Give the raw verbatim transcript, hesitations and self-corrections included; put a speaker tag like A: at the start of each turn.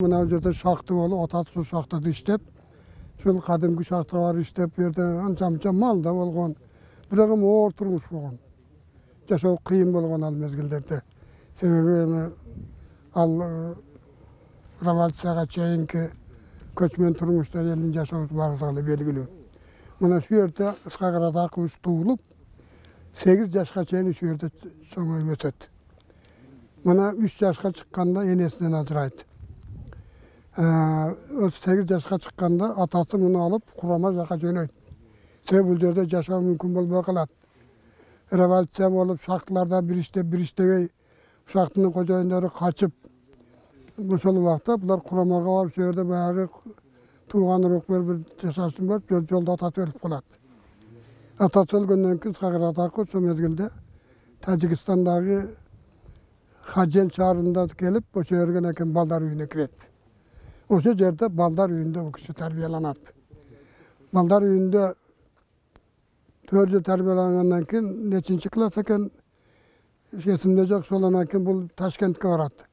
A: Мына жерде шахта болуп, атасы шахтада иштеп, ушул кадимки шахтага барып иштеп, бу жерде анча-мынча мал да болгон. Бирок эми оор турмуш болгон. Жашоо кыйын болгон ал мезгилдерде. Себеби эми ал революцияга чейинки көчмөн турмуштар элдин жашоосу баарыбызга эле белгилүү. Мына ушул жерде Ысқақ Радақович туулуп, сегиз жашка чейин ушул жерде чоңоюп өсөт. Мына үч жашка чыкканда энесинен ажырайт. сегиз жашка чыкканда атасы муну алып Курама жака жөнөйт. Себеби бул жерде жашоо мүмкүн болбой калат. Революция болуп, шахталарда бир иштеп, бир иштебей, шахтанын кожоюндору качып, ошол убакта булар Курамага барып, ошол жерде баягы тууган урукпен бир жашашсын бар, жолдо атасы өлүп калат. Атасы өлгөндөн кийин Ысқақ Радақов ошол мезгилде Тажикстандагы Хаджел шаарында келип, ошо жерге экен балдар үйүнө кирет. Ошол жерде балдар үйүндө бул киши тарбияланат. Балдар үйүндө төрт жыл тарбиялангандан кийин нечинчи класс экен, эсимде жок, ошондон кийин бул Ташкентке барат.